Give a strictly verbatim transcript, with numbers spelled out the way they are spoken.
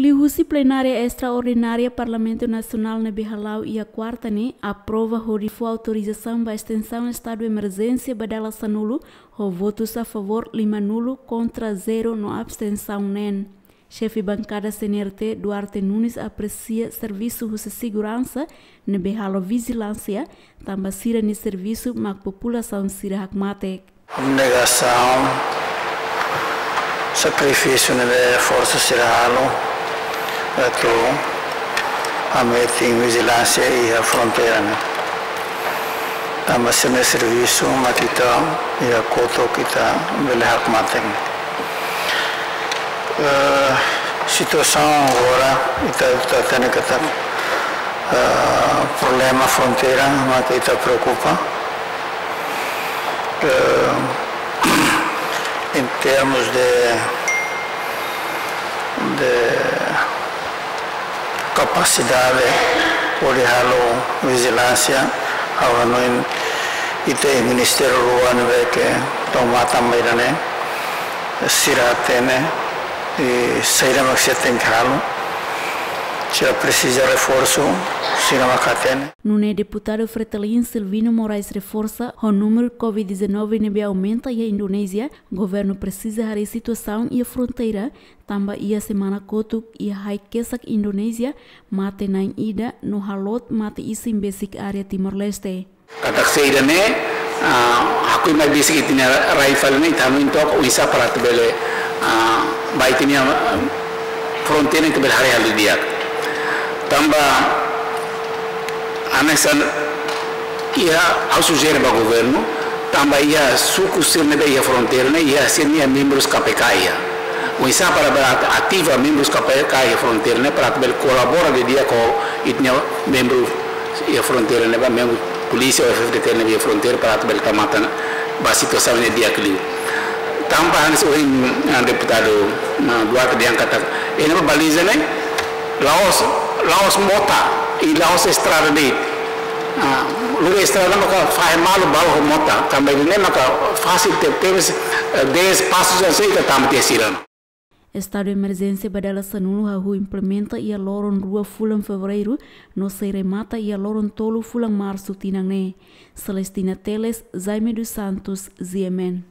Liuhusi plenária estraordinária Parlamentu Nasionál ne'ebé hala'o iha kuarta ne'e aprova hodi fó autorizasaun ba estensaun estadu emerjénsia ba dala sanulu, ho votus a favór lima nulu, kontra zero no abstensaun neen. Xefe bankada C N R T, Duarte Nunes, apresia servisu husi seguransa ne'ebé halo vijilánsia, tanba sira-nia servisu mak populasaun sira hakmatek. Abnegasaun, sakrifísiu ne'ebé forsa sira halo, atu hametin vijilánsia iha fronteira ne'e. Tanba sira-nia servisu mak ita iha kotuk ita bele hakmatek. Eh, situasaun agora ita, ita hatene katak, eh, problema fronteira mak ita preokupa. Eh, em termos de, de kapasidade hodi halo vijilánsia, ha'u hanoin ita iha ministériu rua ne'ebé ke toma tanba ida-ne'e, sira hatene, i saida mak sira tenke halo, sira presiza reforsu, sira mak hatene. Nune'e deputadu Fretilin Silvino Moraes reforsa, ho númeru covid dezanove ne'ebé aumenta iha Indonézia, governu presiza haree situasaun iha fronteira, tanba iha semana kotuk iha hai kesak Indonézia, mate na'in ida no halot mate isin besik área Timor-Leste. Katak saida ne'e, ah, hakoi mai besik ita-nia rai fali ne'e, ita hanoin took oinsá para atu bele, ah, ba ita-nia, ah, fronteira ita bele haree halo di'ak. Tanba hanesan iha, ha'u sujere ba governu, tanba iha suku sira ne'ebé iha fronteira ne'e, iha sira-nia membrus K P K iha. Oinsá para bele ativa membrus K P K iha fronteira ne'e, para atu bele kolabora didi'ak ho ita-nia membru iha fronteira ne'e, ba membru polísia ou F F D T ne'ebé iha fronteira, para atu bele tau matan ba situasaun ne'e di'ak liu. Tanba hanesan ohin, ah, deputadu, ah, Duarte dehan katak, iha ne'ebá baliza ne'e, la'ós, la'ós mota, i la'ós estrada de'it. Ah, lori estrada maka fahe malu balu ho mota, tanba ida-ne'e maka fasil tebetebes, eh, dez pasus hanesan ita tama tiha sira. Estadu emerjénsia ba dala sanulu hahú implementa iha loron rua fulan Fevereiru, no sei remata iha loron tolu fulan Marsu tinan ne'e. Celestina Teles, Jaime dos Santos, G M N.